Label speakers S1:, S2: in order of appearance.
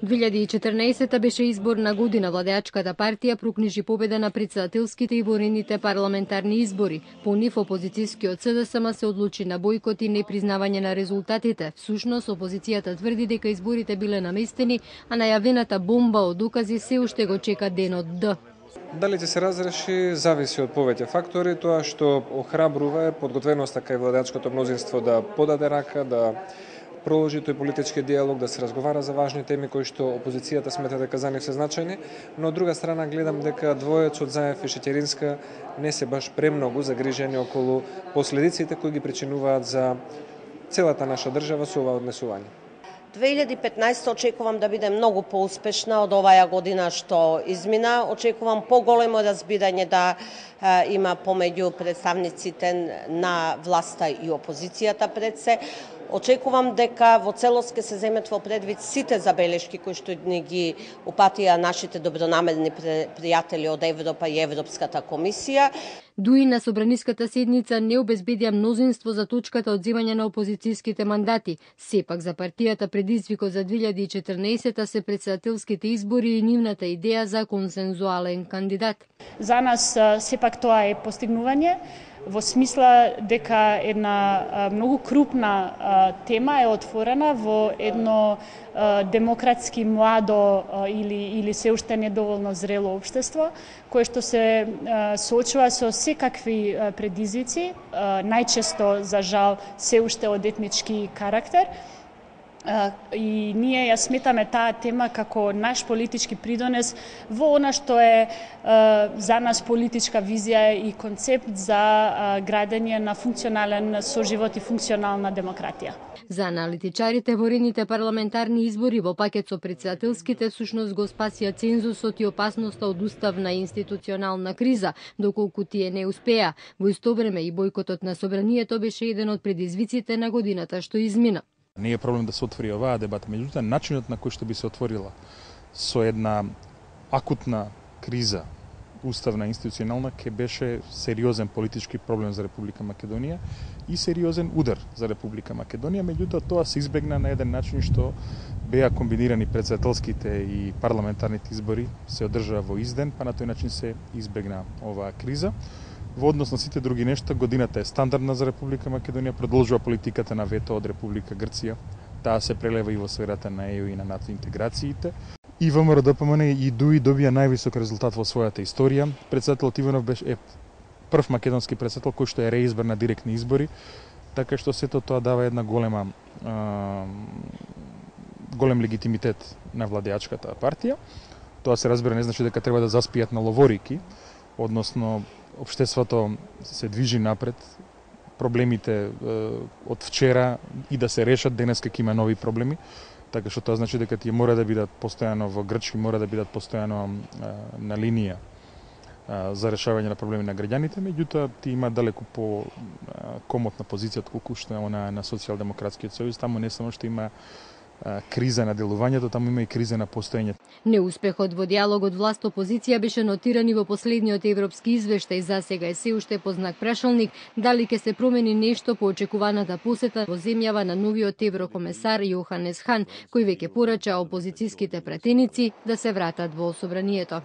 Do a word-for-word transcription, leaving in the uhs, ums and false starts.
S1: две илјади и четрнаесетта беше изборна година. Владеачката партија прокнижи победа на претседателските и ворените парламентарни избори. По нив опозицијскиот СДСМ се одлучи на бойкот и непризнавање на резултатите. Всушност, опозицијата тврди дека изборите биле наместени, а најавената бомба од докази се уште го чека денот Д.
S2: Дали ќе се разреши зависи од повеќе фактори. Тоа што охрабрува е подготвеноста кај владеачкото мнозинство да подаде рака, да продолжи тој политички диалог, да се разговара за важни теми кои што опозицијата смета дека за нив се значајни, но од друга страна гледам дека двојецот Заев и Шеќеринска не се баш премногу загрижени околу последиците кои ги причинуваат за целата наша држава со ова однесување.
S3: две илјади и петнаесетта очекувам да биде многу поуспешна од оваа година што измина. Очекувам поголемо разбирање да е, има помеѓу представниците на власта и опозицијата пред се. Очекувам дека во целост ќе се земет во предвид сите забелешки кои што ни ги упатија нашите добронамерни пријатели од Европа и Европската комисија.
S1: Дуи на собраниската седница не обезбедија мнозинство за точката од земање на опозицијските мандати. Сепак за партијата предизвикот за две илјади и четрнаесетта се претседателските избори и нивната идеја за консензуален кандидат.
S4: За нас сепак тоа е постигнување, во смисла дека една многу крупна тема е отворена во едно демократски младо или или се уште недоволно зрело општество, кое што се соочува со секакви предизвици, најчесто за жал се уште од етнички карактер. И ние ја сметаме таа тема како наш политички придонес во она што е за нас политичка визија и концепт за градење на функционален соживот и функционална демократија.
S1: За аналитичарите, ворените парламентарни избори во пакет со претседателските всушност го спасија цензусот и опасноста од уставна и институционална криза, доколку тие не успеа. Во исто време и бојкотот на собранието беше еден од предизвиците на годината што измина.
S5: Не е проблем да се отвори оваа дебата, меѓутоа начинот на кој што би се отворила со една акутна криза, уставна и институционална, ке беше сериозен политички проблем за Република Македонија и сериозен удар за Република Македонија, меѓутоа тоа се избегна на еден начин што беа комбинирани претседателските и парламентарните избори, се одржаа во изден, па на тој начин се избегна оваа криза. Во однос на сите други нешта, годината е стандардна за Република Македонија, продолжува политиката на вето од Република Грција. Таа се прелева и во сферата на Е Ю и на НАТО интеграциите. И ВМРО-ДПМН и ДУИ добија највисок резултат во својата историја. Претседателот Иванов беше е прв македонски претседател кој што е реизбор на директни избори, така што сето тоа дава една голема а, голем легитимитет на владеачката партија. Тоа се разбира не значи дека треба да заспијат на ловорики, односно општеството се движи напред, проблемите е, од вчера и да се решат, денеска ќе има нови проблеми, така што тоа значи дека тие мора да бидат постојано во грчки, мора да бидат постојано е, на линија е, за решавање на проблеми на граѓаните, меѓутоа ти има далеку по е, комотна позиција отколку што е она на Социјалдемократскиот сојуз, таму не само што има криза на делувањето, таму има и криза на постоењето.
S1: Неуспехот во диалогот власт-опозиција беше нотиран и во последниот европски извештај. За сега е се уште по знак прашалник дали ќе се промени нешто по очекуваната посета во земјава на новиот еврокомесар Јоханес Хан, кој веќе порача опозицијските пратеници да се вратат во собранието.